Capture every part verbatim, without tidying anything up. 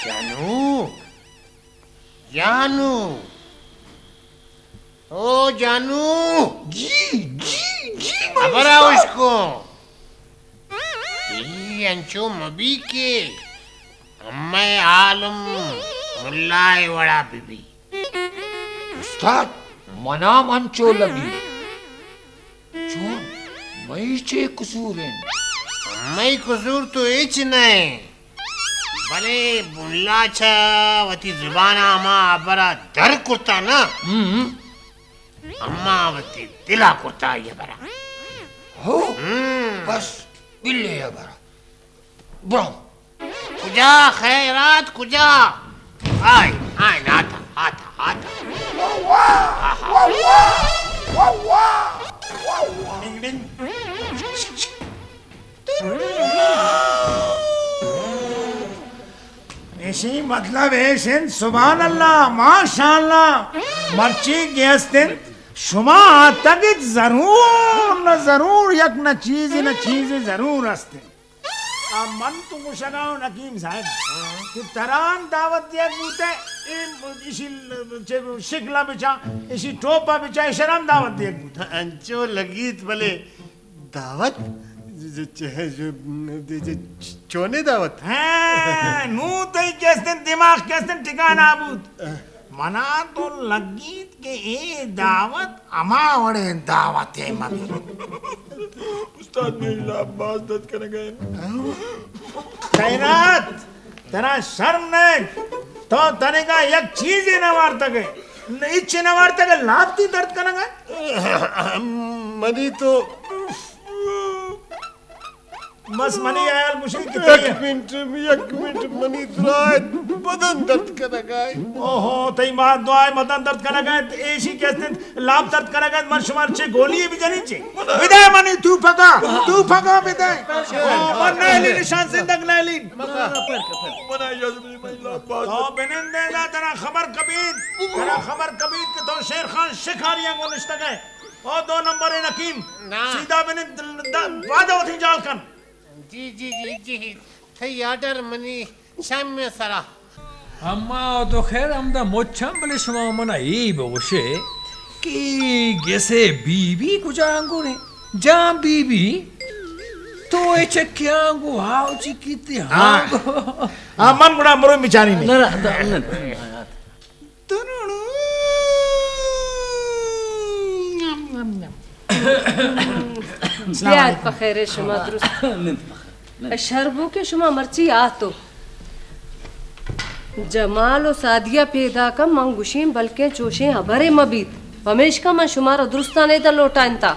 جانو، جانو، او جانو۔ جی، جی، جی، مائی ہبرا استاد۔ اشکو۔ ای انچو مبی کہ امئے عالم ملا ءِ وڑا ببی۔ استاد، منام انچو لگی۔ چون، مئی چے قصور ان؟ مئی قصور تو ہچ نہ ءِ، بلے ملا چا وتی زبان آ ہما ہبر ءِ در کرتا نا، ہم۔ اما وتی دل آ کرتا ای ہبر ءِ۔ ہو، ہم۔ بس، بلے ہبر ءِ۔ برو۔ کجا خیرات، کجا؟ آئے، آئے، آتا، آتا، آتا۔ واہ، واہ، واہ، واہ، واہ، واہ، واہ۔ ڈنگ، ڈنگ۔ ایشی مطلب ایش انت، سبحان اللہ، ماشاءاللہ، مرچی کہ است انت، شما آتگت ضرور نہ ضرور یک نہ چیزے نہ چیزے ضرور است انت۔ آ من تو گوشگا اوں حکیم صاحب کہ تران دعوت دیگ بوتہ، اے ایشی شکل آ بچا، ایشی ٹوپ آ بچا، ایشان ہم دعوت دیگ بوتہ۔ انچو لگیت بلے دعوت؟ چ-، چ-، چ-، چونے دعوت؟ ہاں، نو تئی کہ استن دماغ کہ استن ٹھکانہ آ بوت۔ منا تو لگیت کہ اے دعوت ہما وڑے دعوت ءِ مبی۔ استاد، میری لاپ بھاز درد کنگا انت۔ خیرات، ترا شرم نئے؟ تو تنگا یک چیزے نہ وارتگے، ہچ نہ وارتگے، لاپ تی درد کنگا انت؟ منی تو بس منی خیال گوشی کہ یک تئی منٹ، یک منٹ، منی دراہ بدن درد کنگا ءِ۔ اوہو، تئی ما دراہ بدن درد کنگا ءِ، ایشی کہ است انت لاپ درد کنگا ءِ، من شمار چے گولی ءِ بجنین چے؟ بدے منی توپکا، توپکا بدے۔ او، من نہ ہلین، شان زندگ نہ ہلین۔ تو بنندے نا، ترا خبر کبیت، ترا خبر کبیت کہ تو شیر خان شکاری آن گون نشتگے۔ او دو نمبر حکیم، نا۔ سیدھا بنند، دا، پادو وتی جال کن۔ جی، جی، جی، جی، تئی آرڈر منی چم سرا۔ اما تو خیر ہمدا مچ آن، بلے شما منا ای بگوشے کہ گسے بی بی کجا انگورے؟ جان بی بی، تو اے چکیاں گو ہاو چکی تے ہاں۔ ہاں۔ ہاں، من گڑا مروئی مچانی نے۔ نہ، نہ، نہ، نہ۔ بیار پخیر شما درست۔ شربو کہ شما مرچی آتو۔ جمال و سعدیہ پیداک ء من گوشین بلکیں چوشیں ہبرے مہ بیت، پمیشکا من شمارا درستانے تہ لوٹائینتا۔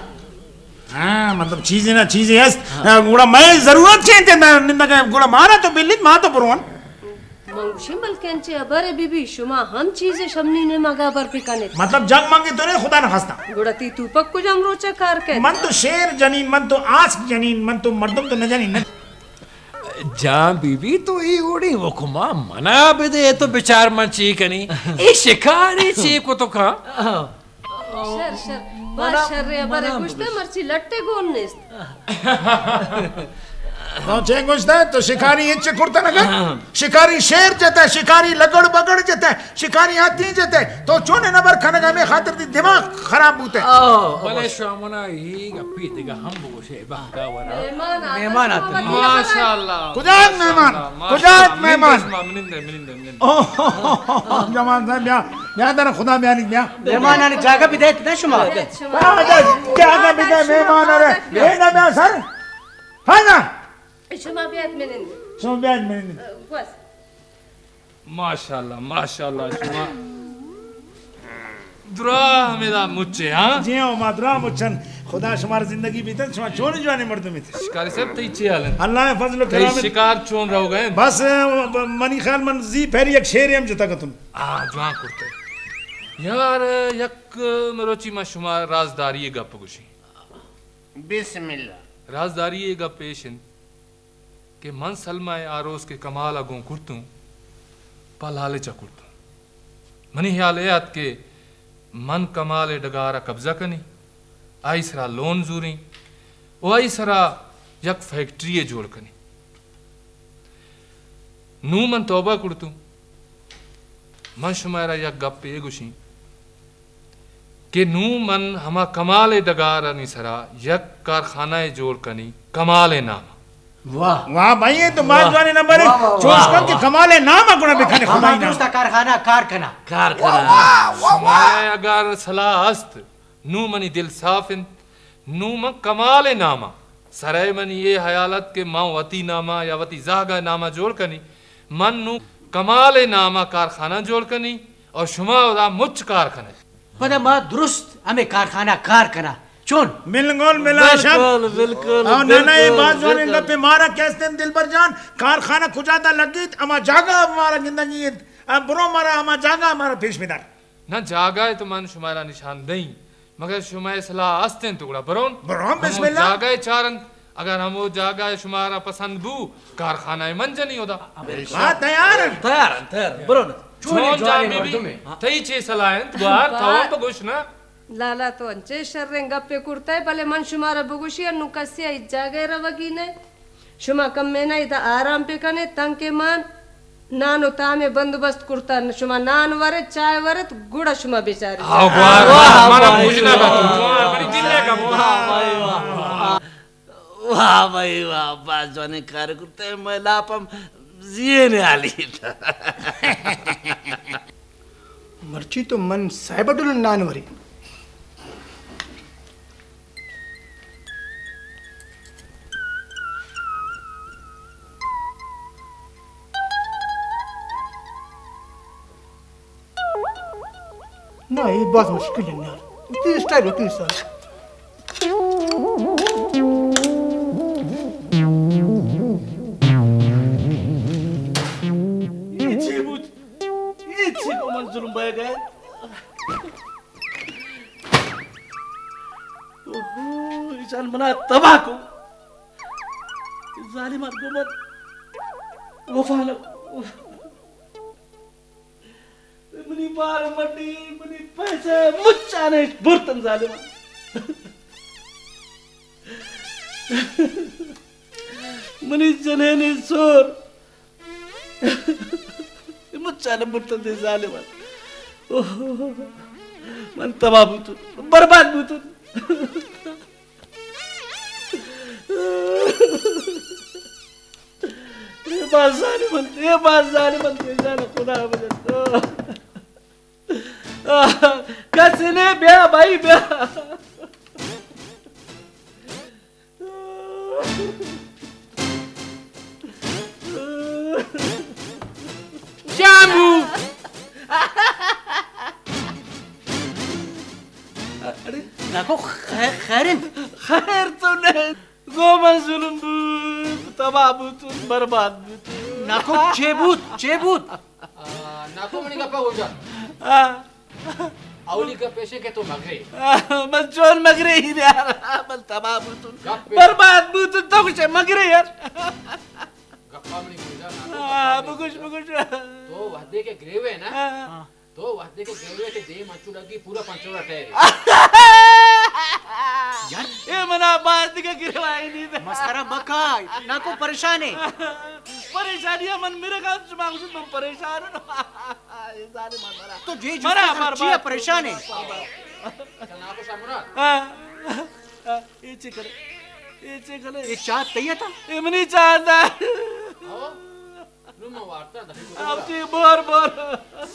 ہاں، مطلب چیزے نا چیزے است۔ ہاں۔ گڑا مئے ضرورت چے انت؟ نندگ ء گڑا مارا تو بلیت، ما تو برون۔ من گوشین بلکن چہ ہبرے بی بی، شما ہم چیزے شمنی نیمگا ہبر بکنیت۔ مطلب جنگ منگے تو نے خدا نخواستہ۔ گڑا تی توپک کجام روچا کار کیت؟ من تو شیر جنین، من تو آسک جنین، من تو مردم تو نہ جنین۔ جان بی بی تو ای اوڑے حکما منا بدے تو بچار من چی کنی۔ ای شکاری چی کتو کان۔ شر، شر۔ با منا، شر ء ہبرے منا گوشتہ، بگوش۔ مرچی لٹ ء گون نیست۔ تو چے گوشتہ؟ تو شکاری ہچ کرتہ نہ کن؟ شکاری شیر جتہ، شکاری لگڑ بگڑ جتہ، شکاری ہاتھی جتہ۔ تو چونن ہبر کنگ ہمے خاطر دی دماغ خراب بوتہ۔ او، بلے بس۔ شامنا ای گپی دگہ ہم بگوشے، بہتا ورا۔ مہمان آتہ۔ مہمان آتہ۔ ماشاءاللہ، کجا ماشاءاللہ، مہمان؟ ماشاءاللہ۔ کجا مہمان؟ منندہ شما، منندہ، منندہ۔ اوہ، جمال صاحب، بیا، بیا در خدا بیانی، بیا۔ مہمان آنے جاگہ بدیت نا شما۔ ہاں، جا-، جاگہ بدے مہمان آنے۔ اے نہ بیا سر۔ ہاں نا۔ شما بیات منند۔ شما بیات منند۔ بس۔ ماشاءاللہ، ماشاءاللہ، شما دراہ ہمیدا مچے، ہاں؟ جی ہاں، ما دراہ مچن۔ خدا شمار زندگی بیتن، شما چون جوانیں مردم ایت۔ شکاری صاحب، تئی چی حال انت؟ اللہ ء فضل و تئی کرم انت۔ شکار چون روگا انت؟ بس، ب-، منی خیال من زی پہری یک شیرے ہم جتا کتن۔ آ، جوان کرتے۔ یار، یک مروچی ما شما رازداری گپ گوشی۔ بسم اللہ۔ رازداری گپ ایش انت کہ من سلمہ ء آ روز کہ کمال ء گون کرتوں، پہ لالچ ء کرتوں۔ منی خیال ء ات کہ من کمال ء ڈگار ء قبضہ کنیں، آئی سرا لون زوریں و آئی سرا یک فیکٹری ء جوڑ کنیں۔ نوں من توبہ کڑتوں۔ من شمارا یک گپے گوشیں کہ نوں من ہما کمال ءِ ڈگار آنی سرا یک کارخانہ ءِ جوڑ کنی، کمال ءِ نام ءِ۔ واہ۔ واہ بھائی، اے تو بھاز واہ۔ جوانیں نمبر ءِ۔ واہ، واہ، چوش واہ، کن کہ واہ۔ کمال ءِ نام ءِ گڑا بکنے واہ، خدائی نام۔ درست آ کارخانہ کار کنا۔ کار کنا۔ شمارا اگر صلاح است، نوں منی دل صاف انت، نوں من کمال ءِ نام ءِ سرا منی اے حیال ات کہ من وتی نام ءِ یا وتی زہگ ءِ نام ءِ جوڑ کنی، من نوں کمال ءِ نام ءِ کارخانہ جوڑ کنی اور شما اودا مچ کار کنے۔ پدا ما درست ہمے کارخانہ کار کنا۔ چون؟ بالکل ملا شک۔ بالکل، بالکل، اور نہ، نہ، اے بالکل، بھاز جوانیں بالکل۔ گپے۔ مارا کہ استیں دلبر جان، کارخانہ کجا تا لگیت، ہما جاگہ مارا گندگی انت۔ اب برو مارا ہما جاگہ مارا پیش بدار۔ نہ، جاگہ ءِ تو من شمارا نشان دئیں، مگر شمئے صلاح است انت گڑا برون۔ برون، ہمو بسم اللہ۔ جاگہ ءِ چارن، اگر ہمو جاگہ ءِ شمارا پسند بو، کارخانہ ءِ من جنی اودا۔ ہاں، تیار ان۔ تیار ان، تیار ان، برون۔ چون جوانیں جان بی بی، مردمے۔ تئی چے صلاح انت گوار، تو ہم بگوش نا۔ لالا، تو انچے شریں گپے کرتئے، بلے من شمارا بگوشی، انو کسے آ ہچ جاگہ ءِ روگی نئے۔ شما کمینہ ادا آرام پہ کنے، تنکہ من نان و تام ءِ بندوبست کرتہ۔ شما نان ورے، چائے ورت، گڑا شما بچارے۔ آ، واہ، واہ، واہ، منم واہ، گوشنا واہ، بتو۔ واہ، واہ، منی دل ءِ کمو۔ واہ، واہ، واہ۔ واہ بھائی واہ، بھاز جوانیں کار کرتہ، مئے لاپ ہم زی ءِ نیالیتہ۔ مرچی تو من صاحب اٹ نان ورے۔ نہ، اے بھاز مشکل ءِ یار۔ اتنی اسٹائل ہوتی ہے سر۔ اے چی بوت؟ اے چی کو من ظلم بہ گئے؟ اوہو، ایشان منا تباہ کو۔ ظالمان گو من وفا نہ۔ منی بار منی، منی پیسہ مچانے برتن ظالمان۔ منی جنینی سور مچانے برتن دے ظالمان۔ اوہ، من تباہ بوتون، برباد بوتون۔ اے بھاز ظالم انت، اے بھاز ظالم انت، اے جان خدا بجن۔ کس نے بیا بھائی بیا۔ شامبو۔ اڑے ناکو خیر، خیر انت؟ خیر تو نہیں۔ گو من ظلم بوت، تباہ بوتون، برباد بوتون۔ ناکو چے بوت؟ چے بوت؟ آ، ناکو منی گپا گوش دار۔ آ۔ اولی گپ ایشے کہ تو مگرے۔ آ، من چون مگرے ہی یار، من تباہ بوتون، گپ برباد بوتون، تو گوشے مگرے یار۔ گپا منی گوش دار، ناکو آ، گپا منی بگوش، گوش دار۔ بگوش۔ تو وہدے کہ گریوے نا، آ۔ تو وہدے کہ گریوے تے دیم انچو لگی پورا پنچوڑا ٹہرے۔ یار۔ اے منا باز دگہ گریوائے نی۔ مسخرہ مکا، ناکو پریشان ہے۔ پریشانی ہے من میرے خیال شما گوشت من پریشان ہوں۔ اے ظالم ہے مرا۔ تو جے جوست مرا کر، برباد چیا پریشان ہے؟ برباد۔ اچھا، ناکو شاہ مراد۔ ہاں۔ ہاں، اے چے کرے؟ اے چے کرے؟ اے چاہ تئی تا؟ اے منی چاہ تا۔ ہاں۔ نم وارتا دفعہ۔ اب جی بور بور۔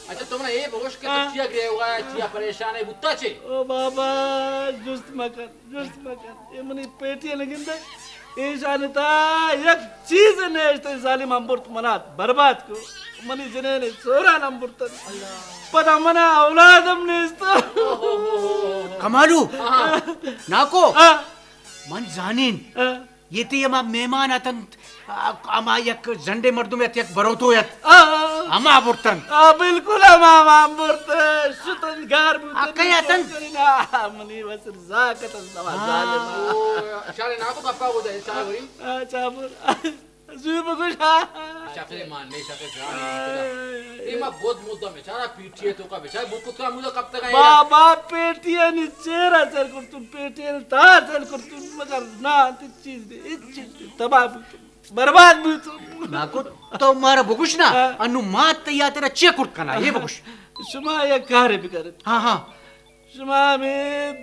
اچھا، تو منا اے بگوش کہ تو ہاں۔ چیا گریوگا، چیا پریشان ہے، بوتا چے؟ او بابا، جست مکن، جست مکن۔ اے منی پیٹی نگندے۔ ایشان تا یک چیز نیشت، ظالم ہم برت منا برباد کو۔ منی جنین سوران ہم برتن۔ پدا منا اولاد ہم نیست۔ کمالو، ہاں۔ ناکو، ہاں۔ من زانین۔ ہاں۔ یہ تے ہما مہمان اتنت، آ، ہما یک زنڈے مردم ات، یک بروتو ات۔ آ، آ، ہما برتن۔ آ، بالکل ہما، ہما برتن۔ شتن گار بوتن۔ آ، کئے اتنت؟ آ، منی وسر زاک اتنت، ہما آ۔ ظالم۔ او، اشارے ناکو گپا گو دے، اشارے وری۔ آ، چابر۔ زوی بگوش۔ شکل مان نے، شکل جان نے۔ اے ما بود مدہ بیچارہ پیٹی ہے تو کا بیچارہ بوکت کا مدہ کب تک آیا۔ بابا، پیٹی نی چیرا سر کرتون، پیٹی نی تار سر کرتون، مگر نا، انت چیز دے، ہچ چیز دے، تباہ بوتون۔ برباد بوتو۔ ناکو، تو مارا بگوش نا، ہاں۔ انو ما تیا تیرا چے کرت کنا، یہ بگوش۔ شما یک کارے بکرت۔ ہاں، ہاں۔ شما ہمے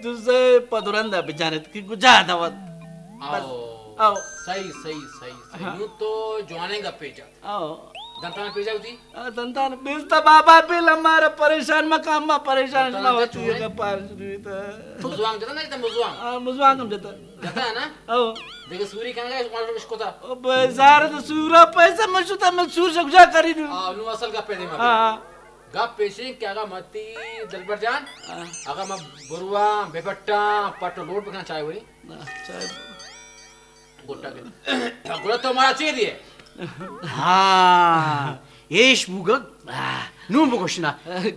دزے پدرندا بجانت کہ گجا دوت۔ بس۔ او۔ او۔ صحیح، صحیح، صحیح، صحیح۔ ہاں۔ نو تو جوانیں گپے جا۔ او۔ دنتان پیجا ہوتی؟ آ، دنتان بیلتا بابا، بیل ہمارا پریشان مکا، ہما پریشان دنتان شما جا ہوتی چونے؟ ہے، گپار شروع تا۔ مزوان جتا نا، جتا مزوان؟ آ، مزوان ہم جتا۔ جتا ہے نا؟ او۔ دیکھ سوری کنگا، مارا اشکتا۔ او بے زار تو سورا پیسہ مشتا، میں سور شکجا کری دوں۔ آ، نو اصل گپے دے ما۔ ہاں۔ گپ ایشیں کہ اگہ متی دلبر جان، ہاں۔ اگہ ما برواں، بے پٹاں، پٹ و لوٹ بکن چائے وری۔ نہ، چائے۔ گٹا کے۔ گڑا تو مارا چے دیے؟ ہاں، ایش بوگا، آہ، نون بگوش نا۔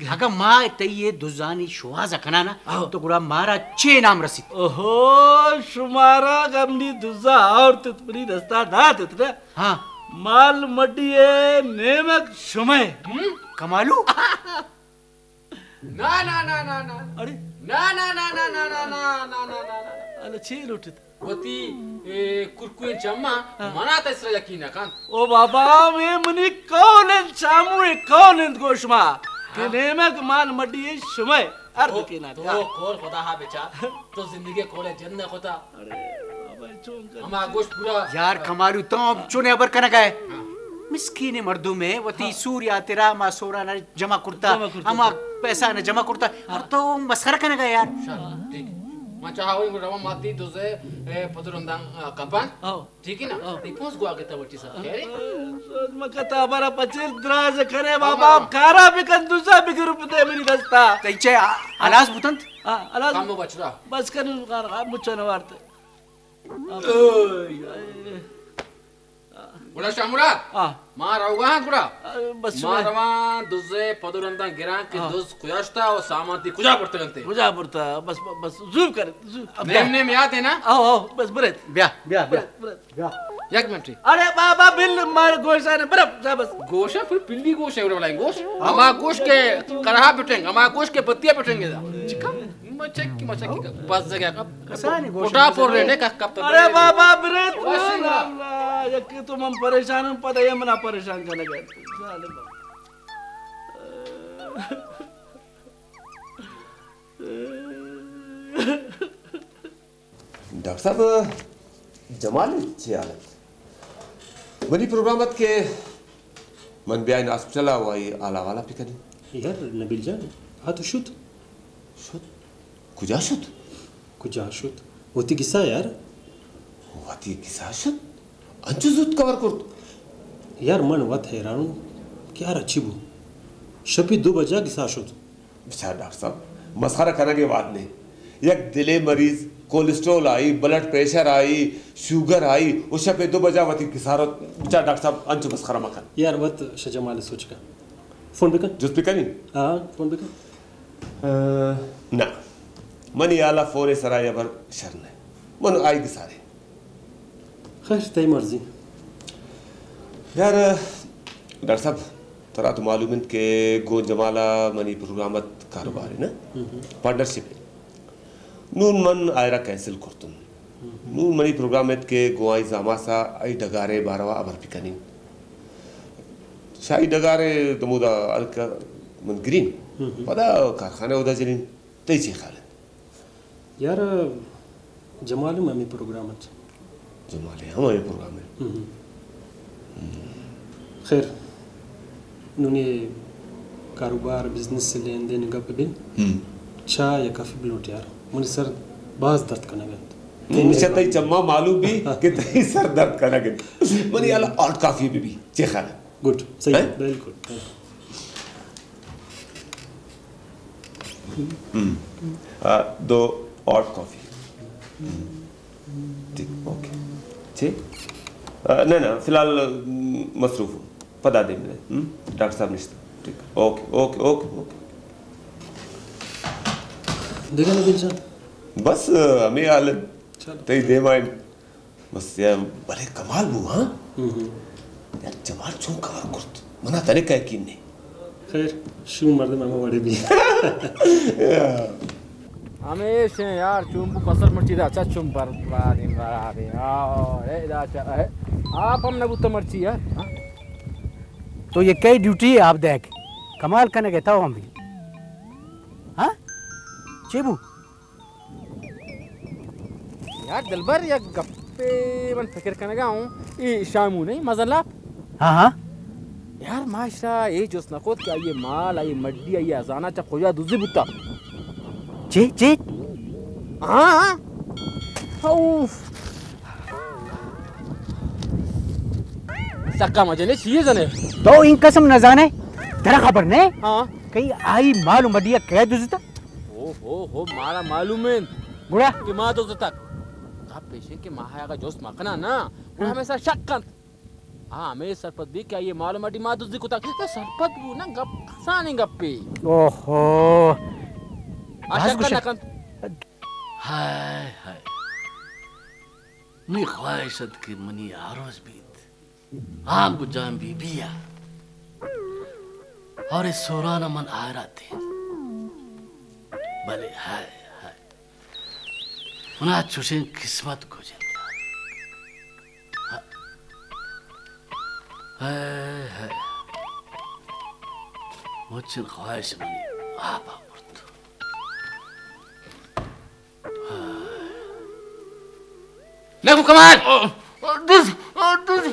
اگہ ما تئی اے دزانی شوہاز ء کنانا، ہاں۔ تو گڑا مارا چے انعام رسیت؟ اوہو، شمارا گمنی دزا اور تت منی دستا دا تت نا۔ ہاں۔ مال مڈی ء نیمگ شمئے۔ ہم؟ کمالو؟ نا، نا، نا، نا، نا۔ اڑے؟ نا، نا، نا، نا۔ اللہ چے لوٹت؟ وتی، اے، کرکوئیں چما ہاں۔ منا تسرا یقین نہ کن۔ او بابا، اے منی قول انت، شامو اے قول انت گوش ما، کہ ہاں۔ نیمگ مال مڈی اے شمئے۔ ہر تو، دکینا تو کار۔ قول خدا ہا بچار، تو زندگی قول جند نہ خدا۔ ارے بابا، چون کر؟ ہما گوشت پورا۔ یار کمالو، تو ہم چونے ہبر کنگا ہے۔ ہاں۔ مسکین مردم ہے، وتی ہاں۔ سور یا تیرا ہما سورا نا جمع کرتا، جمع کرتا۔ ہما پیسہ نا جمع کرتا۔ ہاں۔ اور تو مسخرہ کنگا ہے یار۔ شر، ٹھیک۔ ما چاہا ہوئی روا ماتی دوزے، اے، پدر اندان، آ، کپان۔ ہاں۔ ٹھیک ہے نا؟ ہاں۔ ای پونس گوا کے تا وٹی سا۔ خیر ہے؟ سوچ مکا تا ہبرا پچیر دراز کرے بابا، ہاں۔ کارا بکن دوزا بگر پتے منی دستا۔ تئی چے آ-، ہلاس بوتنت؟ ہاں، ہلاس۔ کم بچرا۔ بس کن کار، آ، مچا نوارتے۔ اوئے۔ گڑا شاہ مراد، ہاں۔ ما روگا ہاں گڑا۔ آ، بس ما شما۔ روان دزے پدو رندان گران کہ ہاں۔ دز کجا شتا و سامان تی کجا برتگ انتے؟ کجا برتا؟ بس، بس، زور کر، زور۔ نیم نیم یاد ہے نا؟ آؤ، آؤ، بس بریت۔ بیا، بیا، بیا۔ بریت، بریت۔ بیا۔ یک منٹ۔ ارے بابا، بل مار گوشانے، برپ، جا بس۔ گوشا، پھر پلی گوشا، اڑے والا گوش۔ ہما گوش کے کرہا پٹنگ، ہما گوش کے بتیا پٹنگ دا۔ چکا؟ مچکی، مچکی کا، بس جگہ کا۔ کسانی گوش پٹا پر رہنے کا کب تک ارے بابا، بریت، بس نا۔ اللہ، یکی تو من پریشان ہوں، پتہ ہے منا پریشان کرنے گئے۔ ظالم۔ ڈاکٹر صاحب، جمال چے حال انت؟ منی پروگرام ات کہ من بیائین ہاسپٹل آ و آئی حال احوال آ پکنی۔ یار نبیل جان، آ تو شت۔ شت؟ کجا شت؟ کجا شت؟ وتی گسا یار۔ وتی گسا شت؟ انچو زوت کور کرت؟ یار من وت حیران اوں کہ یار اچی بو۔ شپی دو بجا گسا شت۔ بچار ڈاکٹر صاحب، مسخرہ کنگ ءِ وھد نے۔ یک دل ءِ مریض، کولیسٹرول آئی، بلڈ پریشر آئی، شوگر آئی، و شپ ءِ دو بجا وتی گسارت۔ بچار ڈاکٹر صاحب، انچو مسخرہ مکن۔ یار وت شاہ جمال ءِ سوچ کن۔ فون بکن۔ جست بکنی؟ ہاں، فون بکن۔ آ، نہ۔ منی حیال آ فون ءِ سرا اے ہبر شر نہ۔ من آئی گسارے۔ خیر، تئی مرضی۔ یار، ڈاکٹر صاحب، ترا تو معلوم انت کہ گون جمال آ منی پروگرام ات کاروبار ءِ نا، ہم۔ پارٹنرشپ ءِ۔ نون من آئرا کینسل کرتون۔ ہم۔ نون منی پروگرام ات کہ گون آئی زاماس آ ای ڈگار ءِ باروا ہبر بکنین۔ شاہی ڈگار ءِ دمودا ہلک من گرین۔ ہم۔ پدا کارخانہ اودا جنین۔ تئی چے خیال انت؟ یار، جمال ہم ہمے پروگرام اٹ۔ جمال ہم ہمے پروگرام اٹ۔ ہم۔ خیر، نونے کاروبار، بزنس لین دین گپ بن۔ ہم۔ چاہ یا کافی بلوٹ یار، منی سر بھاز درد کنگ انت۔ نی مچہ تئی چما معلوم بھی کہ تئی سر درد کنگ انت۔ منی حالا ہاٹ کافی بھی بھی، چے خیال انت؟ گڈ، صحیح، ہیں؟ بالکل۔ ہم۔ آ، دو ہاٹ کافی۔ ہم۔ ٹھیک، اوکے۔ ٹھیک۔ آ، نہ، نہ، فی الحال، ہم، مصروف ہوں۔ پدا دیم نے۔ ہم؟ ڈاکٹر صاحب نشتہ۔ ٹھیک۔ Okay, okay, okay, okay. دیکھا نبیل جان۔ بس، ہمے حال ہے۔ چلو۔ تئی دیما ہے۔ بس یار، بلے کمال بو، ہاں؟ ہم ہم۔ یار، جمال چون کار کرت؟ منا تنے کا یقین نہیں۔ خیر، شوم مردم ہمے وڑے بھی۔ ہمیش ہیں یار، چون بو بسر مرچی دا چا چون برباد ہیں، برباد ہیں۔ آ، اے دا چا، اے، آپ ہم نہ بوتا مرچی یار۔ ہاں؟ تو یہ کئی ڈیوٹی ہے آپ دیکھ، کمال کنے گئے تو ہم بھی۔ ہاں؟ چی بو؟ یار دلبر، یک گپے من فکر کنگا ہوں، ای شامو نہیں مزن لاپ؟ ہاں، ہاں۔ یار ما اشرا اے جست نہ کت کہ آئی مال، آئی مڈی، آئی ہزانہ چا کجا دزی بوتا؟ چی، چی؟ ہاں، ہاں۔ اوف۔ سکا مجنے چیئے زنے؟ تو این قسم نہ زانے؟ ترا خبر نے؟ ہاں۔ کئی آئی مال و مڈی کیا دزتا؟ او ہو ہو، مارا معلوم انت گڑا؟ کہ ما دزتک۔ گپ ایش انت کہ ما اگہ جست مکناں نا، گڑا ہاں۔ ہمے سرا شک کنت۔ ہاں، ہمے سرپد بی کہ آئی مال و مڈی ما دزی کتگ۔ تو سرپد بو نا، گپ آسانیں گپے۔ اوہو۔ آ بھاز شک گوشے۔ نہ کنت۔ ہائے ہائے۔ نی خواہش ات کہ منی آروس بیت۔ آنگو جان بی بی آ۔ اور اس سورانا من آئرا تین۔ بلے ہائے ہائے۔ منا چوشیں قسمت گوجنت۔ ہائے ہائے۔ مچن خواہش منی آپ آ برت۔ ناکو کمال! دز، دز،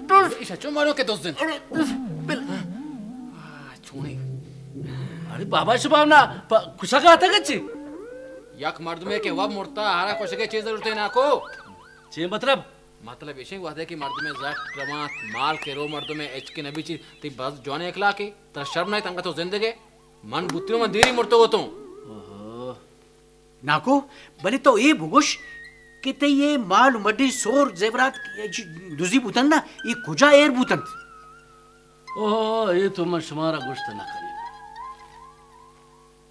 دز۔ ایشا چون مارو کہ دزن؟ ارے، دز، بل۔ آ، چونے۔ ارے بابا شباب نا پ-، کشا کاتا گچی؟ یک مردمے کہ وب مرتا، ہرا کشگے چے ضرورت ہے ناکو؟ چے مطلب؟ مطلب ایشیں وہدے کہ مردمے زٹ روانت، مال کہ رو مردمے ہچ کہ نبی چی، تی بس جوان اخلاق ہے، ترا شرم نہیں تنگا تو زندگے؟ من بوتیوں من دیری مرتو تو۔ اوہو۔ ناکو، بلے تو اے بگوش کہ تئی اے مال و مڈی سور زیورات دزی بوتنت نا، اے کجا ایر بوتنت؟ اوہو، اے تو من شمارا گوشت نہ کنین۔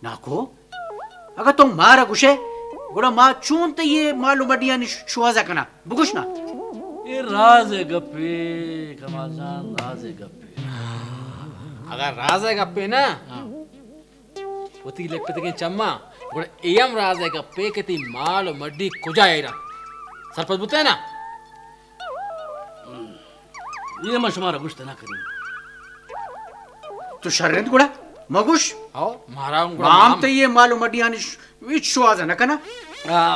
ناکو، اگہ تو مارا گوشے، گڑا ما چون تئی اے مال و مڈی آنی ش-، شوہازا کناں؟ بگوش نا۔ اے راز ءِ گپے، کمال جان، راز ءِ گپے۔ اگہ راز ءِ گپے نا، ہاں۔ وتی لکھتگیں چماں، گڑا اے ہم راز ءِ گپے کہ تئی مال و مڈی کجا ایرا؟ سرپد بوتئے نا؟ اے ما شمارا گوشت نہ کنیں۔ تو شر انت گڑا مگوش۔ ہو، مارا ہم گڑا ما ہم تئی اے مال و مڈی آنی ش-، ہچ شوہاز نہ کناں۔ آ،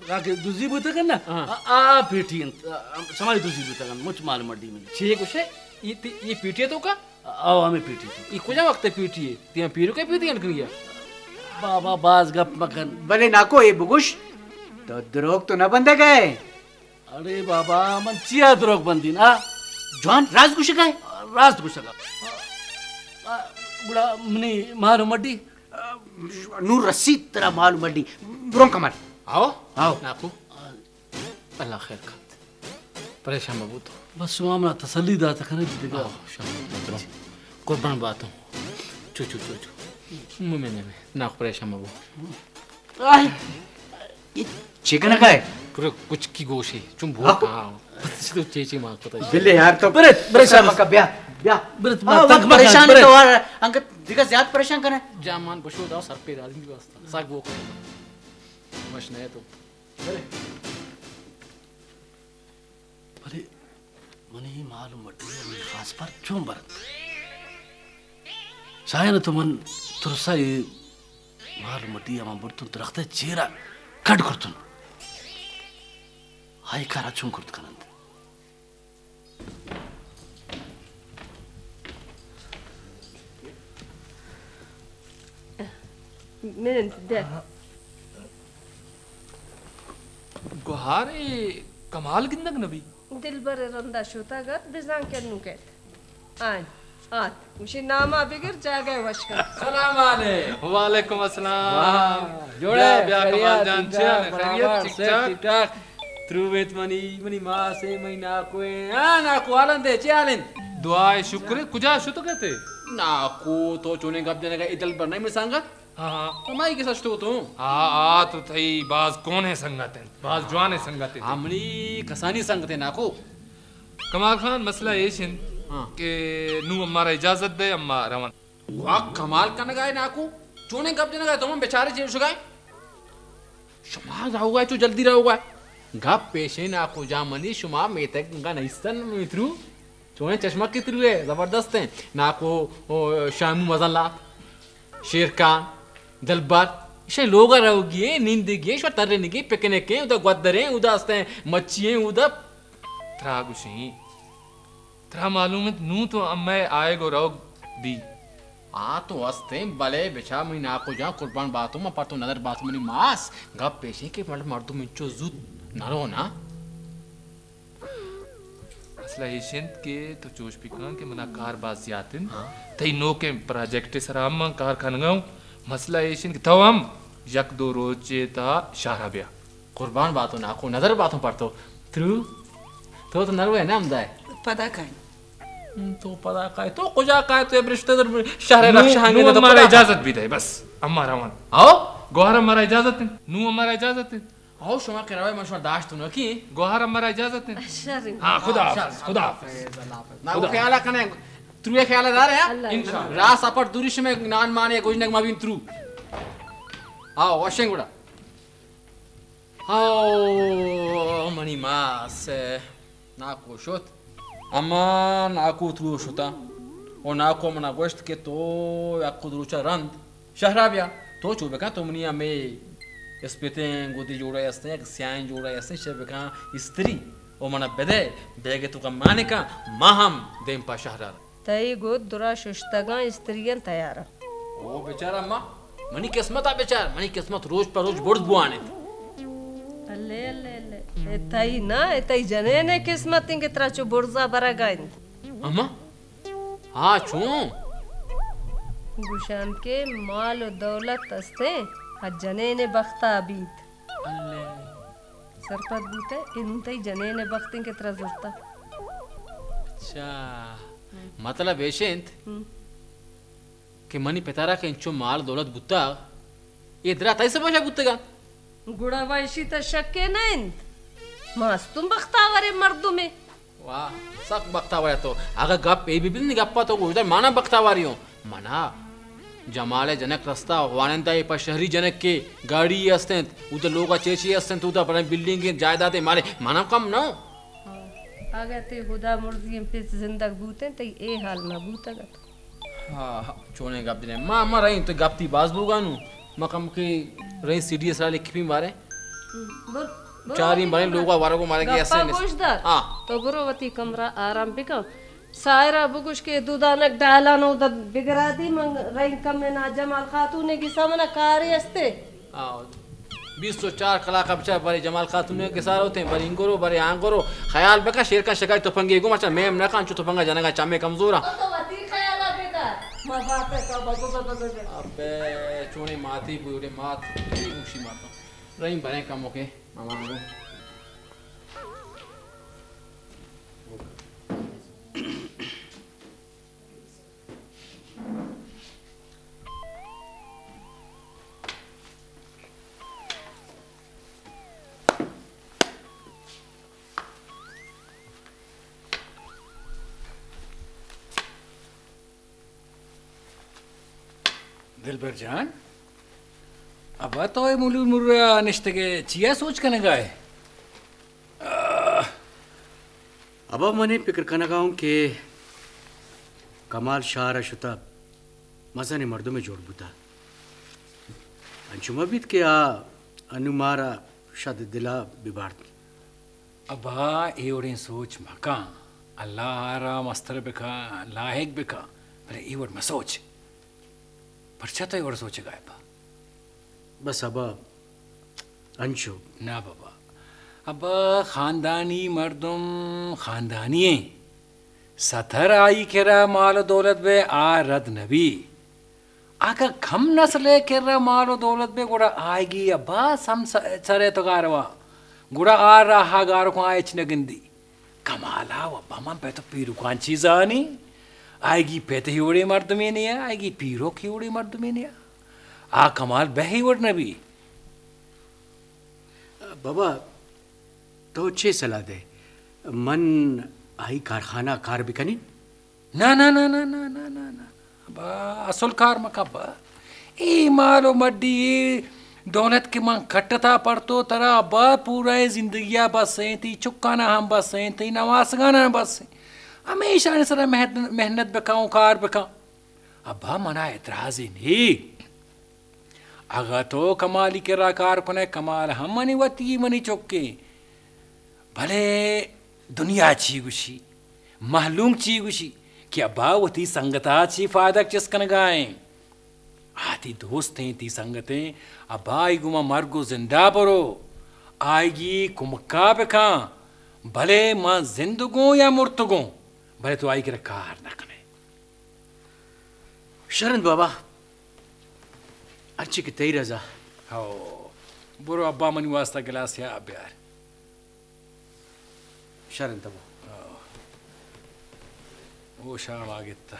آ کہ دزی بوتگ نا، ہاں۔ آ، آ پیٹی انت، آ، سمائی دزی بوتگ انت، مچ مال و مڈی منی۔ چے گوشے؟ ای تی-، ای پیٹی تو کا؟ او، ہمے پیٹی تو۔ ای کجا وخت پیٹی ہے؟ تیاں پیرو کے پیٹی انت کنگی ہے؟ بابا، باز گپ مکن۔ بلے ناکو، اے بگوش، تو دروگ تو نہ بندے گئے؟ ارے بابا، من چیا دروگ بندین، آ؟ جوان راست گوشگا ہے؟ راست گوشگا۔ آ، گڑا منی مال و مڈی؟ نور رسید ترا مال و مڈی۔ برون کمر۔ آؤ۔ آؤ۔ ناکو۔ اللہ خیر کنت۔ پریشان مبو تو۔ بس شما منا تسلی داتا کنے دگہ۔ آؤ، شاباش۔ قربان باتوں۔ چو، چو، چو، چو۔ ممے نے میں۔ ناکو پریشان مبو۔ آئے۔ اے چے کنگا ہے؟ پورا کچکی گوشے، چون بھوک، ہاں۔ ہاں۔ بس تو چے چے مانگ پتہ۔ بلے یار تو برت، برت، پریشان مکا، بیا، بیا۔ برت، ہاں، تنگ مکا، پریشان برت۔ تو یار، انگت دگہ زیات پریشان کنے۔ جان مان بشو دا سر پہ راضی واسطہ۔ ساگ بھوک۔ وش نہ تو۔ برے۔ ولے منی مال و مڈی ء منی خاص پر چون برنت؟ شاہین تو من ترسا اے مال و مڈی ء من برتن درخت ء چیر ء کڈ کرتن۔ ہائی کارا چون کرت کننت؟ مننت دہ۔ گوہار ء کمال گندگ نہ بی۔ دلبر ء رندا شتگ ات، بزاں کہ انو کیت۔ آن آت، گوشی ناما بگر جاگہ ء وش کن۔ سلام علیک۔ وعلیکم السلام۔ واہ، جوڑ بیا، ئے؟ بیا، خیریت، کمال جان، ٹھیک چے ٹھاک، حال ہے؟ برابر، خیریت، سب ٹھیک ٹھاک۔ ٹھیک ٹھاک۔ ترویت منی، منی ماس ء، منی ناکو ء۔ ہاں ناکو، حال اندے، چے حال انت؟ دعا ء شکر ء، کجا شتگ اتے؟ ناکو، تو چونیں گپ جنگ ء، اے دلبر نہ منی سنگت؟ ہاں، ہاں۔ تو مائی کسا شتو تو؟ ہاں، آ تو تئی باز کونیں سنگت انت، باز جوانیں سنگت انت۔ ہاں، منی کسانی سنگت انت ناکو۔ کمال خان، مسئلہ ایش انت ہاں۔ کہ نوں امارا اجازت دے، اما رون۔ واہ، کمال کنگا ہے ناکو۔ چونیں گپ جنگا تو من بیچارے چے شگائے؟ شما رہوگا تو جلدی رہوگا۔ گپ پیشے ناکو جان منی، شما میتگ انگا نئیستن میترو۔ چونیں چشمہ کی تروے، زبردست ہیں۔ ناکو، او، شامو مزن لات، شیر خان، دلبر، ایشانی لوگا رہوگی اے، نندگی اے، شما ترینگی، پکنک اے، اودا گودر اے، اودا استیں مچھی اے، اودا ترا گوشیں۔ ترا معلوم انت، نوں تو امئے آئیگ و روگ دی۔ آ تو استیں، بلے بچار منی ناکو جان، قربان باتوں، من پر تو نظر باتوں منی ماس۔ گپ ایشیں کہ مطلب مردم انچو زوت نہ رو نا۔ مسئلہ ایش انت کہ تو چوش بکن کہ منا کار باز زیات انت۔ ہاں۔ تئی نوکیں پراجیکٹ سرا ہم من کار کنگا ہوں۔ مسئلہ ایش انت کہ تو ہم یک دو روچے تا شہرا بیا۔ قربان باتو ناکو، نظر باتو پر تو۔ ترو، تو تو نروے نا ہمدائے۔ پدا کائیں۔ ہم، تو پدا کائے، تو کجا کائے، تو برشتے در شہر نو، رکشہ ہنگے نو تو ہمارا پدا اجازت بھی دے، بس، ہمارا وان۔ ہاؤ؟ گوہر ہمارا اجازت ہے، نو ہمارا اجازت ہے۔ ہاؤ، شما کہ روے من شما داشت نو کی؟ گوہر ہمارا اجازت ہے۔ شر۔ ہاں، خدا ہاں، حافظ، شر۔ خدا حافظ۔ اللہ حافظ۔ ناکو خدا۔ خیال کنے، تروے خیال دار ہے؟ اللہ انشاءاللہ۔ راہ سفر دوری شمے نان مانے گوجنگ ما بین ترو۔ ہاؤ، وشیں گڑا۔ ہاؤ، منی ماس ناکو شت۔ اما ناکو ترو شتا۔ او ناکو منا گوشت کہ تو یک دو روچا رند شہرا بیا۔ تو چو بکن تو منی ہمے اسپیتیں گودی جوڑا استیں، یک سیاہیں جوڑا استیں، چے بکن استری۔ او منا بدے، بیگے تو کن مانکا، ما ہم دیم پا شہرا۔ تئی گد درا ششتگاں استری آن تیار آ۔ او بیچارہ ما، منی قسمت آ بچار، منی قسمت روچ پہ روچ بڑز بوان انت۔ الے، الے، الے۔ اے تئی نا، اے تئی جنین ء قسمت انت کہ ترا چو بڑزا برگا انت۔ اما؟ ہا، چون؟ گوشان کہ مال و دولت استیں، آ جنین ء بختا بیت۔ الے۔ سرپد بوتہ، انون تئی جنین ء بخت انت کہ ترا زرتہ۔ اچھا، مطلب ایش انت ہم۔ کہ منی پتارا کہ انچو مال دولت بوتہ، اے درا تئی سبب شا بوتگا؟ گڑا وا اشی تا شکے نہ انت۔ مستون بختاوریں مردمے۔ واہ، سک بختاور ء تو۔ اگہ گپ اے بہ بیت، نی گپا تو گوشدار، مانا بختاوری اوں۔ منا جمال ء جنک رستہ، خوانندہ ء پہ شہری جنک کے گاڑی است انت، اودا لوگ ء چیچے است انت، اودا بڑے بلڈنگ انت، جائیداد ء مالے، منا کم نہ۔ اگہ تے خدا مرضی ء پت زندگ بوتیں، تئی اے حال نہ بوتگ ات۔ ہاں، ہاں، چونیں گپ جنیں۔ ما، ما رہین تو گپ تی باز بوگا نو۔ ما کم کہ رہین سی ڈی ایس را لکھپین بارے۔ ہم، بر، بر، چارین بر، بارے بر۔ لوگا ورگو مارے کہ گپا ایسے نس-، گوش دار۔ ہاں۔ تو برو وتی کمرہ آرام بکن۔ سائرہ بگوش کہ دودانک ڈائلان اودا بگرا دی، من رہین کم نا جمال خاتون گسا منا کارے استے۔ آ، بیست و چار کلاک آ بچار برے جمال خاتون ء گسار ہوتیں، برے انگرو، برے آنگرو۔ خیال بکن شیر خان شکاری تپنگے گم اچھا میم نہ کن، چو تپنگا جنگا چمے کمزور آ۔ او تو وتی خیال آ بدار۔ ما باپ ہے تو بگو بگو بگو۔ ابے چونے ماتی بوڑے مات، چی گوشی ماتا۔ رحیم برے کمو کے، ماما گو۔ دلبر جان، ابا تو اے ملور مرورا نشتگے، چیا سوچ کنگا ئے؟ آہ۔ ابا، من ہن پکر کنگا اوں کہ کمال شار آ شتہ مزنیں مردمے جوڑ بوتہ۔ انچو مہ بیت کہ آ ہندن مارا شد دلا ببارت۔ ابا، اے وڑیں سوچ مکن۔ اللہ آرا مستر بکا، لاحق بکا، بلے اے وڑ مسوچ۔ پرچا تو اے وڑ سوچگا ئے ابا؟ بس ابا، انچو۔ نہ بابا، ابا خاندانی مردم خاندانی ایں۔ ستر آئی کرا مال و دولت بے آ رد نبی۔ اگہ کم نسلے کرا مال و دولت بے گڑا آئیگی ابا سم س-، سرے تو گاروا۔ گڑا آ راہا گارکن آ ہچ نہ گندی۔ کمالا و ابا من پہ تو پیرکان چی زانی؟ آئیگی پت ہی وڑے مردمے نیا، آئیگی پیرک ہی وڑے مردمے نیا۔ آ کمال بہ ہی وڑ نبی۔ بابا، تو چے صلاح دے؟ من آئی کارخانہ کار بکنین؟ نہ، نہ، نہ۔ ابا، اسل کار مکہ ابا۔ اے مال و مڈی، اے دولت کہ من کٹتا پڑتو ترا، ابا، پورا اے زندگی آ بس ایں، تئی چکانا ہم بس ایں، تئی نواسگانا ہم بس ایں۔ ہمیشہ آنے سرا محنت، محنت بکن و کار بکن۔ ابا، منا اعتراض ءِ نے۔ اگہ تو کمالی کرا کار کنئے، کمال ہم منی وتی ءِ، منی چک ءِ۔ بلے دنیا چی گوشی، مہلوک چی گوشی کہ ابا وتی سنگت آ چی فائدہ چست کنگا ایں۔ آ تئی دوست ایں، تئی سنگت ایں، ابا آئی گوما مرگ و زندا برو، آئیگی کمکا بکن، بلے ما زندگوں یا مرتگوں، بلے تو آئی کرا کار نہ کنے۔ شرن بابا، ہرچی کہ تئی رضا۔ ہو، برو ابا منی واسطہ گلاسے آب بیار۔ شرن تبو۔ ہو۔ او شام آگتا۔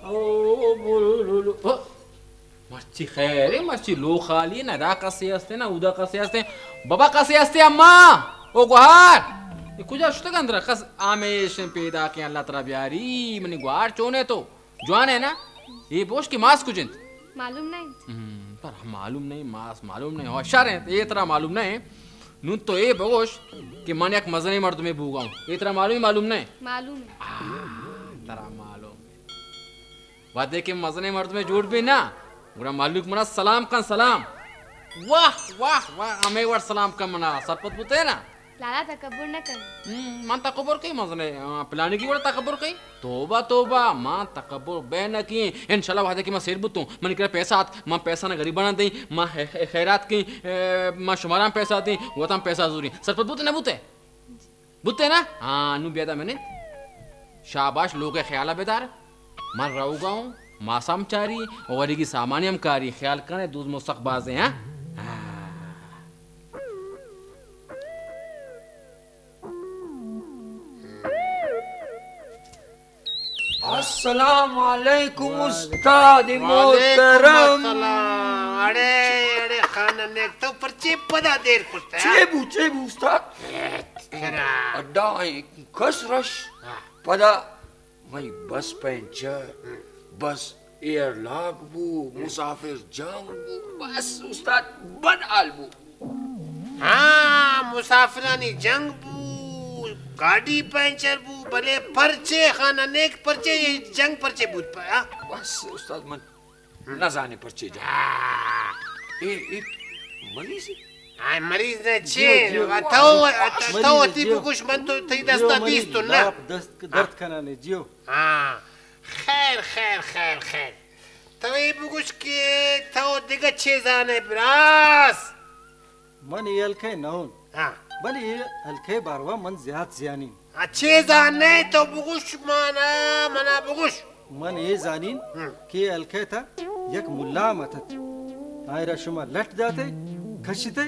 او بولو لولو۔ او، مرچی خیر ءِ، مرچی لوغ خالی ءِ، نہ دا کسے است ءِ، نہ اودا کسے است ءِ۔ بابا کسے است ءِ، اماں، او گوہار۔ اے کجا شتگ اندرا؟ کس ہمیش پیداک ایں، اللہ ترا بیاری۔ منی گوہار چون ءِ تو؟ جوان ءِ نا؟ اے بوش کہ ماس کج انت؟ معلوم نہ انت۔ ہم، پر معلوم نہیں، ماس معلوم نہیں۔ ہو، شر انت، اے ترا معلوم نہیں۔ نون تو اے بگوش کہ من یک مزنیں مردمے بوگا اوں۔ اے ترا معلوم ءِ، معلوم نہ؟ معلوم ءِ۔ آ، ترا معلوم ءِ۔ وہدے کہ مزنیں مردمے جوڑ بی نا، گڑا مہلوک منا سلام کن، سلام۔ واہ، واہ، واہ، ہمے وڑ سلام کن منا، سرپد بوتے نا۔ لالا تکبر نہ کن۔ ہم، من تکبر کئی، مزنیں، آ، پلانیگی وڑ تکبر کئی۔ توبہ، توبہ، ما تکبر بے نہ کیں۔ انشاءاللہ وہدے کہ ما سیر بوتوں، منی کرا پیسہ آت، ما پیسہ نا غریبانا دیں، ما خ-، خ-، خیرات کیں، اے، ما شماران پیسہ دیں، وتان پیسہ زوریں۔ سرپد بوتے نہ بوتے؟ بوتے نا؟ ہاں، نو بیا دا منند۔ شاباش، لوگ ءِ خیال ءَ بدار۔ من روگا اوں، ماس ہم چاری، اولیگی سامان ہم کاری۔ خیال کنے، دوز مستخ بازیں، ہاں؟ ہاں۔ السلام علیکم استاد وعلیکم محترم۔ السلام۔ اڑے، اڑے خان نیک، تو پرچے پدا دیر کرتا ہے؟ چے بو، چے بو استاد؟ اڈا ایں کس رش۔ ہاں۔ پدا مئی بس پینچر، بس ایئر لاک بو، مسافر جنگ بو، بس استاد بد حال بو۔ ہاں، مسافرانی جنگ بو، گاڈی پینچر بو، بلے پرچے خانہ نیک، پرچے اے جنگ پرچے بوت پہ، ہاں؟ بس استاد من نہ زانے پرچے جنگ۔ ہاں۔ اے، اے مریض اے؟ ہاں، مریض نے چے؟ جیو، جیو۔ تو، مریض تو اے، وتی جیو۔ بگوش، من تو تئی جیو دستا مریض، دیستون نا۔ لاپ دست درد کنانے، جیو۔ ہاں، خیر، خیر، خیر، خیر۔ تو اے بگوش کہ تو دگہ چے زانے براس؟ من اے ہلکے نہ اون۔ ہاں۔ بلے اے ہلکے باروا من زیات زیانین۔ آ، چے زانے تو بگوش مانا، منا بگوش۔ من اے زانین ہم۔ کہ اے ہلکے تا یک ملا ہم اتت۔ آئرا شما لٹ داتے، کشتے۔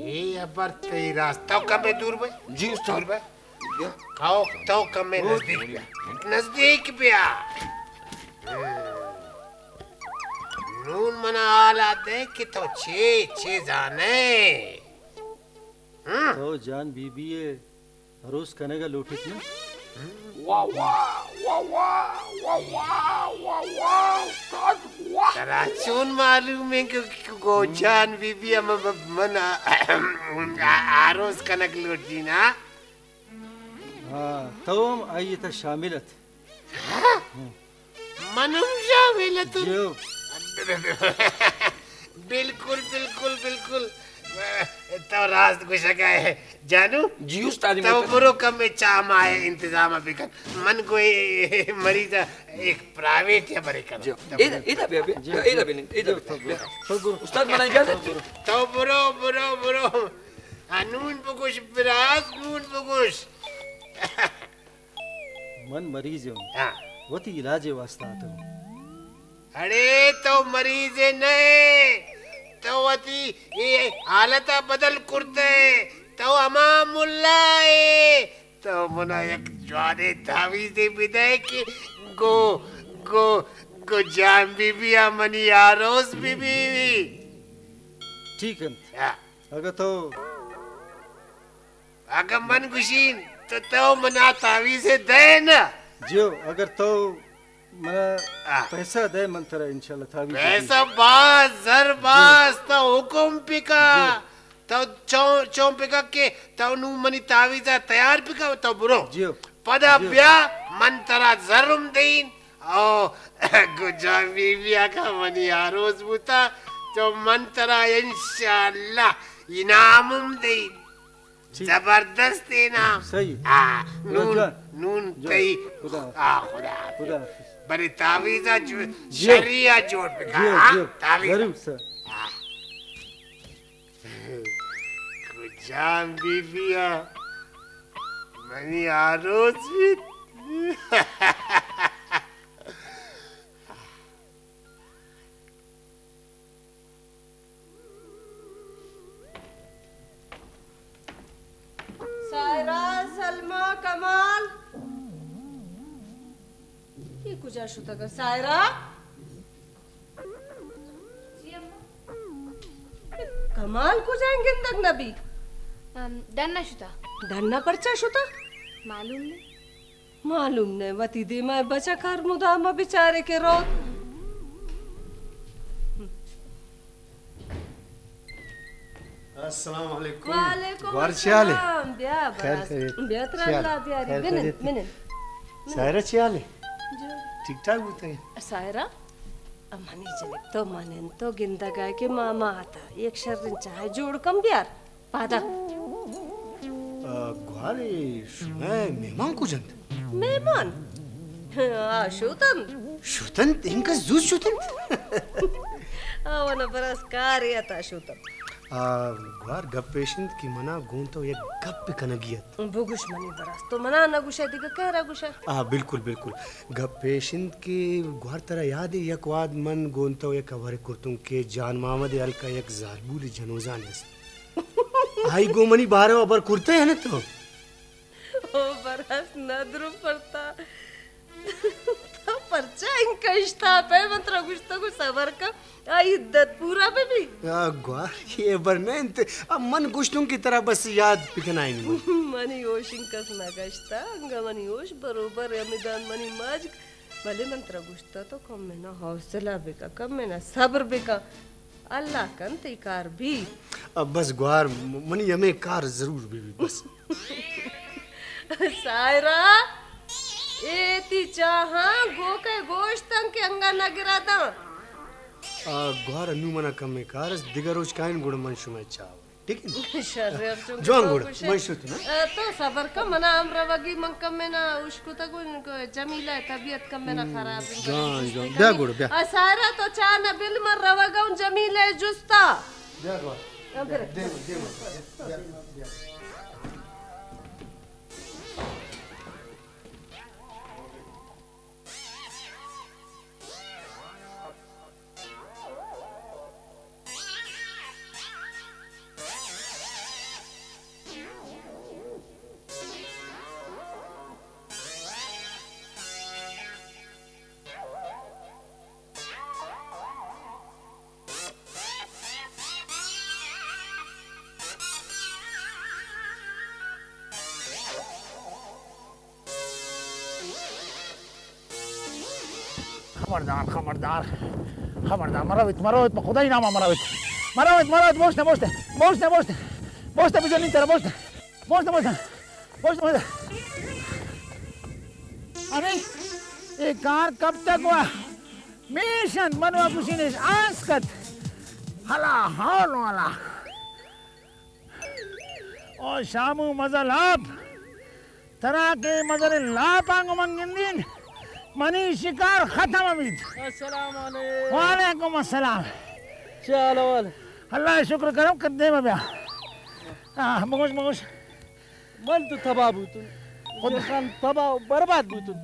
اے ابر تئی راست۔ تو کمے دور بے۔ جی استاد۔ دور بے۔ تو، تو کمے نزدیک بیا۔ نزدیک بیا۔ نون منا حالا دے کہ تو چے، چے زانے؟ ہم؟ تو جان بی بی ءِ عروس کنگ ءَ لوٹیت نا؟ واہ، واہ، واہ، استاد، واہ۔ ترا چون معلوم ہے کہ گو جان بی بی ہم من عروس کنگ لوٹی نا؟ ہاں، تو ہم آئی تا شامل ات۔ ہاں؟ من ہم شامل اتون۔ جیو۔ بالکل، بالکل، بالکل۔ تو راست گوشگا ہے جانو۔ جی استاد تو محترم۔ برو کمے چاہ ماہ انتظام بکن۔ من گوئے مریض ایک پرائیویٹ یا برے کن۔ جیو۔ ایدا، ایدا بیا، بیا۔ جیو، ایدا جیو۔ بیا، ایدا جیو، بیا۔ تو برو۔ تو برو۔ استاد منا اجازت دے۔ تو برو، برو، برو۔ ہاں، نون بگوش براس، نون بگوش۔ من مریض اوں۔ ہاں۔ وتی علاج واسطہ اتوں۔ اڑے تو مریض نئے، تو وتی اے حالت بدل کرتے، تو ہما ملا اے، تو منا یک جوانیں تعویذے بدے کہ گو، گو، گجان بی بی آ منی آروس بی بی۔ ٹھیک انت۔ ہاں۔ اگہ تو اگہ من گوشین تو، تو منا تعویذ ءِ دے نا۔ جیو، اگر تو منا آ۔ پیسہ دے، من ترا انشاءاللہ تعویذ پیسہ دے۔ بھاز، زر بھاز، تو حکم پکا۔ جیو۔ تو چون، چون پکا کہ تو نو منی تعویذ آ تیار پکا، تو برو۔ جیو۔ پدا جیو۔ بیا من ترا زر ہم دین۔ او گجان بی بی آ کا منی آروس بوتا تو من ترا انشاءاللہ انعام ہم دین۔ ٹھیک۔ زبردست انعام۔ صحیح۔ آ، جوان، نون، جوان۔ نون جوان۔ تئی۔ خدا حافظ۔ آ، خدا حافظ۔ خدا حافظ۔ بلے تعویذ آ جو-، جیو۔ شری آ جوڑ بکا، جیو، ہاں؟ جیو۔ تعویذ آ۔ ضرور سر۔ آ۔ گجان بی بی آ منی آروس بیت۔ سائرہ، سلمیٰ، کمال، ای کجا شتگ؟ سائرہ؟ جی اماں۔ کمال کجا انت گندگ نہ بی؟ ام، ڈن نا شتا۔ ڈن نا پرچا شتا؟ معلوم نے۔ معلوم نے، وتی دیما بچک ہر مدام بیچارے کہ روت۔ السلام علیکم۔ وعلیکم گوار چے حال ءِ؟ السلام۔ بیا خیر براس۔ خیریت۔ بیا ترا چے حال؟ اللہ بیاری۔ خیر بنن، خیریت؟ بنن۔ سائرہ چے حال ءِ؟ جو۔ ٹھیک ٹھاک بوتگ ئے؟ سائرہ، منی جنک تو منن تو گندگ ءَ کہ ماما آتا یک شرین چاہ جوڑ کن بیار۔ پادا۔ آ، گوارے شمئے مہمان کج انت؟ مہمان؟ آ، شوت انت۔ شوت انت؟ انکس زوت شوت انت؟ آ، اونا براس کارے آتا شوت انت۔ آ، گوار گپ پیش انت کہ منا گون تو یک گپ کنگی ات۔ بگوش منی براس، تو منا نہ گوشئے دگہ کہرا گوشئے؟ آ، بالکل، بالکل۔ گپ پیش انت کہ گوار ترا یاد ءِ یک واد من گون تو یک خبرے کرتون کہ جان محمد ءِ ہلک آ یک زالبول جنوزانے اس۔ آئی گون منی بارو آ خبر کرتہ یا نہ تو؟ او براس ندر پرتا۔ تو پرچا انکا اشتاپہ؟ من ترا گوشتگو صبر کن، آئی عدت پورا بہ بی۔ آ گوار، یہ بر نہ انت۔ اب من گوشتون کہ ترا بس یاد بکنائینی من۔ منی ہوش انکس نہ گشتہ، انگا منی ہوش بروبر ءِ، ہمدان منی ماجک۔ بلے من ترا گوشتہ تو کم انا حوصلہ بکن، کم انا صبر بکن۔ اللہ کن تئی کار بی۔ اب بس گوار، م-، منی ہمے کار ضرور بی بی بس۔ سائرہ، ایتی چاہاں گوکئے گوشتن کہ انگا نہ گراتاں۔ آ، گوار انو منا کمے کار اس، دگہ روچ کائن گڑا من شمئے چاہو۔ ٹھیک ہے؟ شر ءِ، چونکہ جوان تو گڑا، گوشے، من شتون، ہاں؟ آ، تو صبر کن، منا ہم روگی، من کمے نا اشکتگوں، جمیلہ ءِ طبیعت کمے نا خراب ہے، جوان، جوان۔ بیا گڑا، بیا۔ آ، سائرہ تو چاہ نہ بل، من روگا ہوں جمیلہ ءِ جستا۔ بیا گڑا۔ ہاں، بیا۔ دیم، دیم، بیا، بیا۔ خبردار، خبردار، خبردار، مرویت، مرویت، پہ خدائی نام آ مرویت، مرویت، مرویت، بوشتہ، بوشتہ، بوشتہ، بوشتہ، بوشتہ، بجنین ترا، بوشتہ، بوشتہ، بوشتہ، بوشتہ، بوشتہ۔ ارے، اے کار کب تک ہوا؟ میش انت، منو گوشینیش آس کت۔ ہلا حول ولا۔ او شامو مزل آپ، ترا کہ مزل لاپ آنگو من گندین، منی شکار ختم بیت۔ السلام علیکم۔ وعلیکم السلام۔ چے حال احوال؟ اللہ شکر کرم، کر دیما بیا۔ آہ، بگوش، بگوش۔ من تو تباہ بوتون۔ خود۔ جیسان تباہ و برباد بوتون۔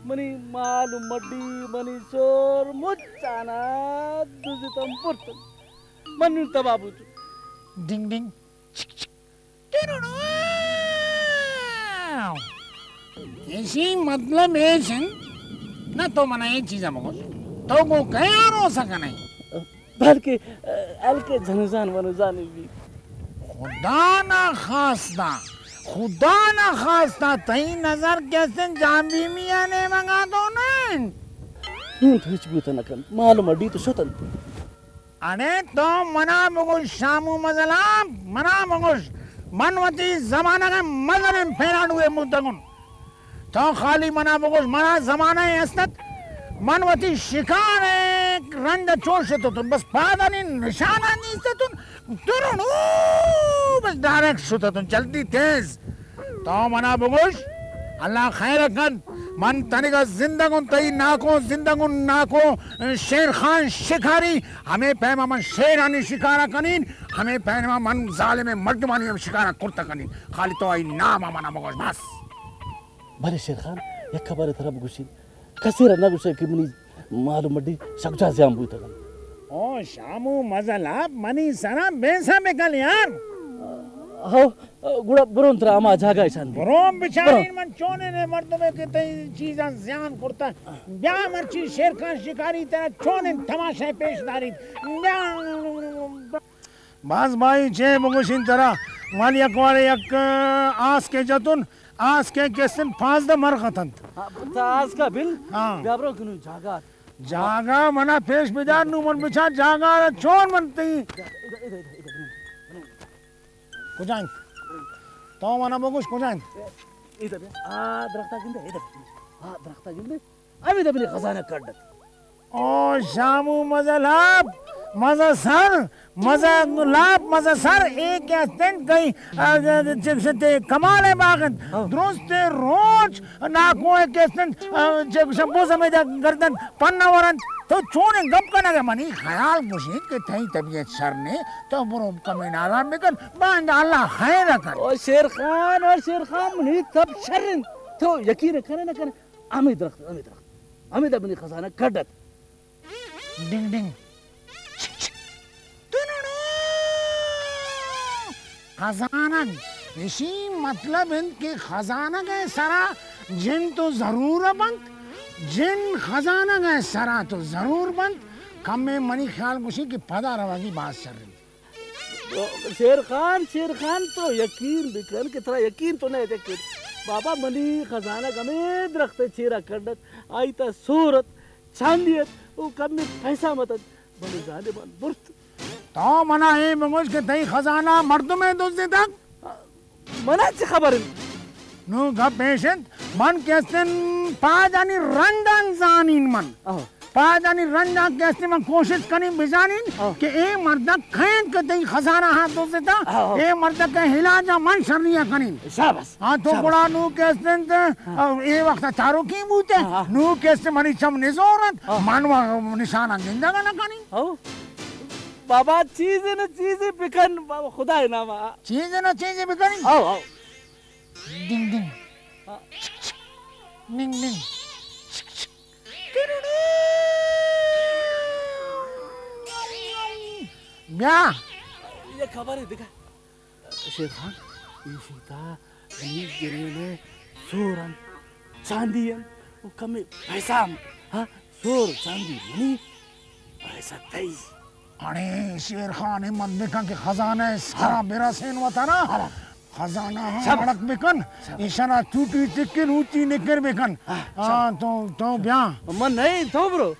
منی مال و مڈی، منی سور، مچ آنا دزتم برتن۔ من نون تباہ بوتون۔ ڈنگ ڈنگ۔ چک چک۔ ٹرڑو۔ ایشی مطلب ایش انت نہ تو منہ اے چیزا مگوش، تو گو کیاروسہ کنے۔ بلکہ، آ، ہلکے جنزان منزان بھی۔ خدا نا خواستہ، خدا نا خواستہ، تئی نظر کیسن جان بھیمی آ نیمگا تو نن۔ نون تو ہچ بوتہ نہ کن، معلوم اڈی تو شتن۔ اڑے تو منا بگوش شامو مزل آ، منا بگوش، من وتی زمانہ غا مزل ان پھیرانو اے مدگن۔ تو خالی منا بگوش، منا زمانہ ء است ات، من وتی شکار ء رند ء چون شتتون، بس پادانی نشان آن نیستتون، ترن او بس ڈائریکٹ شتتون، جلدی تیز۔ تو منا بگوش، اللہ خیر ء کن، من تنگا زندگ ان، تئی ناکو زندگ ان، ناکو شیر خان شکاری، ہمے پیما من شیرانی شکارا کنین، ہمے پیما من ظالم مردمانی ہم شکارا کرتا کنین، خالی تو ای نام منا بگوش بس۔ بلے شیر خان، یک خبرے ترا بگوشین، کسے را نہ گوشے کہ منی مال و مڈی سکجا زیان بوتگ انت۔ او شامو مزل آپ منی سرا بیسہ بکل یار۔ ہو، گڑا برون ترا ہما جاگہ اشان دے۔ برون بچارین برون۔ من چونین مردمے کہ تئی چیزاں زیان کرتا۔ بیا مرچی شیر خان شکاری ترا چونین تماشا پیش داریت۔ بیا۔ باز بھائی چے بگوشین ترا، من یک وارے یک آس کے جتون، آس کے کسن پانزدہ مرغ اتنت۔ ہاں، تا آس کا بل، ہاں۔ بیا برو کنو جاگہ۔ جاگہ منا پیش بدار نو من بچار جاگہ چون من تئی۔ ادھر، ادھر، ادھر، ادھر، ادھر۔ کجا انت؟ تو منا بگوش کجا انت؟ ادھر بیا۔ آ درختا گندے، ادھر۔ آ درختا گندے۔ ہمیدا منی خزانہ کڈ ات۔ او شامو مزہ لاپ، مزہ سر، مزہ لاپ، مزہ سر، اے کہ استن کئی، آ، چکشتے کمال ء باغ انت۔ ہاں۔ درست روچ ناکو ء کہ استن، آ، چکش بوز ہمیدا گردن پنہ ورنت۔ تو چونیں گپ کنگ ء؟ منی خیال گوشی کہ تئی طبیعت شر نے، تو برو کمین آرام بکن، باندا اللہ خیر ء کن۔ او شیر خان، او شیر خان، منی تب شر انت۔ تو یقین کنے نہ کنے؟ ہمے درخت، ہمے درخت۔ ہمیدا منی خزانہ کڈ ات۔ ڈنگ ڈنگ۔ چک چک۔ تننو۔ خزانگ۔ اشی مطلب انت کہ خزانگ ء سرا جن تو ضرور بنت، جن خزانگ ء سرا تو ضرور بنت، کمے منی خیال گوشی کہ پدا روگی بھاز شر انت۔ شیر خان، شیر خان، تو یقین بکن کہ ترا یقین تو نہ اتک۔ بابا، منی خزانہ ہمے درخت ء چیرا کنڈ ات، آئی تا سور ات، چاندی ات، او کمے پیسہ متت، بلے ظالمان برت۔ تو منا اے بگوش کہ تئی خزانہ مردمے دزتگ؟ منا چہ خبر انت؟ نو گپ پیش انت، من کہ استن پاجانی رنگ آن زانین من۔ آہو۔ پاجانی رنگ آن کہ استن من کوشست کنین بزانین آہو۔ کہ اے مردک کئے انت کہ تئی خزانہ ہا دزتا، آہو۔ اے مردک ء علاج آ من شری آ کنین۔ شاباس، ہاں، تو شاباس۔ گڑا نو کہ استن تے، ہاں۔ اے وخت چاروکی بوتے، ہاں، ہاں۔ نو کہ استن منی چم نزور انت، ہاں۔ من و نشان آن گندگ نہ کنین۔ آہو۔ بابا، چیزے نہ چیزے بکن، بابا، خدا نام آ۔ چیزے نہ چیزے بکن؟ آہو، آہو۔ ڈنگ ڈنگ۔ ہاں۔ چک چک۔ ڈنگ ڈنگ۔ چک چک۔ بیا۔ یہ خبر ہے، دیکھا۔ شیر خان، ای شیتا، ای گرینے، سورن، چاندی ان، او کمے پیسہ ہم، ہاں؟ سور چاندی منی، پیسہ تئی۔ اڑے شیر خان، ہمت بکن کہ خزانہ ء سرا ہاں۔ برسین وطنا۔ ہاں۔ خزانہ ہم شاباس۔ اڑک بکن، شاباس۔ ایشانا چوٹی چکن، اوٹی نکر بکن۔ ہاں، ہاں، شاباس۔ تو، تو بیا۔ من نہیں، تو برو۔